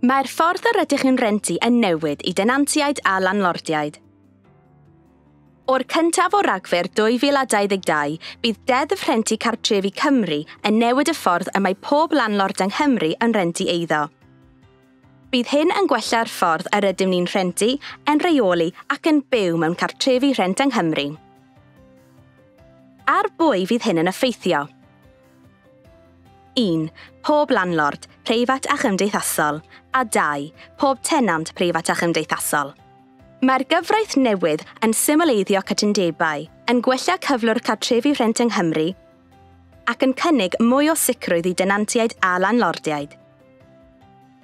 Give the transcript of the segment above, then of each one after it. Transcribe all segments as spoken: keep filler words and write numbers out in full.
Mae'r ffordd yr ydych yn rentu yn newid i denantiaid a landlordiaid. O'r cyntaf o Ragfyr dwy fil a dau ddeg dau, bydd Deddf Rhentu Cartrefi Cymru yn newid y ffordd y mae pob landlord yng Nghymru yn rentu eiddo. Bydd hyn yn gwella'r ffordd yr ydym ni'n rhentu, yn rheoli ac yn byw mewn cartrefi rhent yng Nghymru. Ar bwy fydd hyn yn effeithio? un. Pob landlord, preifat a chymdeithasol, a dau. Pob tenant preifat a chymdeithasol. Mae'r gyfraith newydd yn symleiddio cytundebau, yn gwella cyflwr cartrefi rhent yng Nghymru ac yn cynnig mwy o sicrwydd i denantiaid a landlordiaid.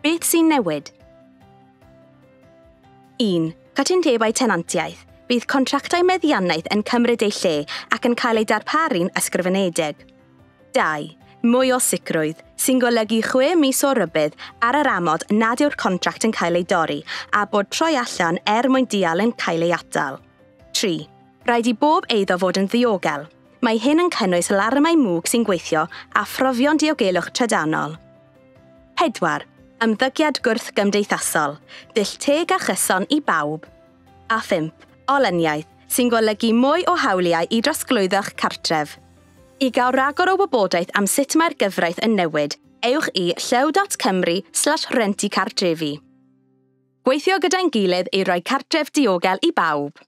Beth sy'n newid? un. Cytundebau tenantiaeth. Bydd contractau meddiannaeth yn cymryd eu lle ac yn cael eu darparu'n ysgrifenedig. dau. Mwy o sicrwydd, sy'n golygu chwe mis o rybudd ar yr amod nad yw'r contract yn cael ei dorri a bod troi allan er mwyn dial yn cael ei atal. tri. Rhaid i bob eiddo fod yn ddiogel. Mae hyn yn cynnwys larymau mwg sy'n gweithio a phrofion diogelwch trydanol. pedwar. Ymddygiad gwrth-gymdeithasol, dull teg a chyson i bawb. A phump. Olyniaeth, sy'n golygu mwy o hawliau i drosglwyddo'ch cartref. I gael rhagor o wybodaeth am sut mae'r gyfraith yn newid, ewch i llyw dot cymru slash rentu cartrefi. Gweithio gyda'n gilydd i roi cartref diogel i bawb.